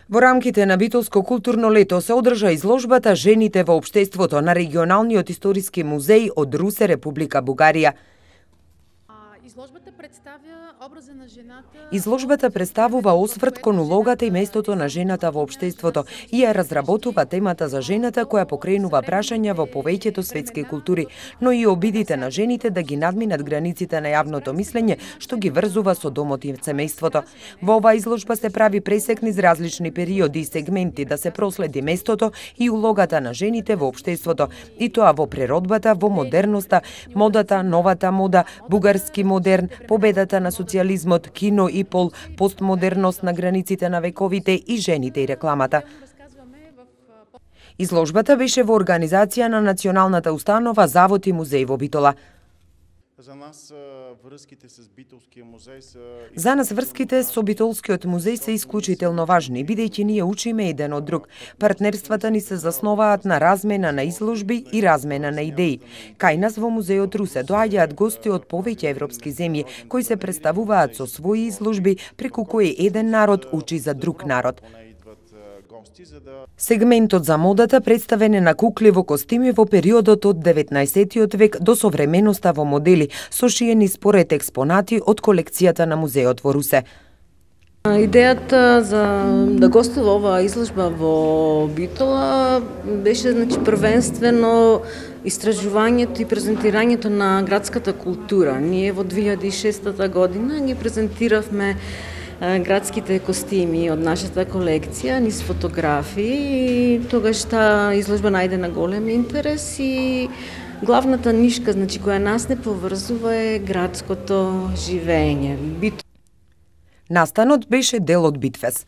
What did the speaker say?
Во рамките на Битолско културно лето се одржа изложбата Жените во општеството на регионалниот историски музеј од Русе, Република Бугарија. Изложбата представува осврт кон улогата и местото на жената во општеството и ја разработува темата за жената која покренува прашања во повеќето светски култури, но и обидите на жените да ги надминат границите на јавното мислење што ги врзува со домот и семејството. Во оваа изложба се прави пресек низ различни периоди и сегменти да се проследи местото и улогата на жените во општеството, и тоа во природбата, во модерноста, модата, новата мода, бугарски модерн, победата на социјализмот, кино и пол, постмодерност на границите на вековите и жените и рекламата. Изложбата беше во организација на Националната установа Завод и музеј во Битола. За нас врските со Битолскиот музеј се исклучително важни, бидејќи ние учиме еден од друг. Партнерствата ни се засноваат на размена на изложби и размена на идеи. Кај нас во музејот Русе доаѓаат гости од повеќе европски земји, кои се представуваат со своји изложби, преку кои еден народ учи за друг народ. Сегментот за модата представен е на кукли во костими во периодот од 19 век до современоста во модели, сошиени според експонати од колекцијата на музеот во Русе. Идејата за да гостува оваа изложба во Битола беше првенствено истражувањето и презентирањето на градската култура. Ние во 2006 година ги презентиравме градските костими од нашата колекција низ фотографии и тогаш таа изложба најде на голем интерес и главната нишка која нас не поврзува е градското живење. Настанот беше дел од Битфест.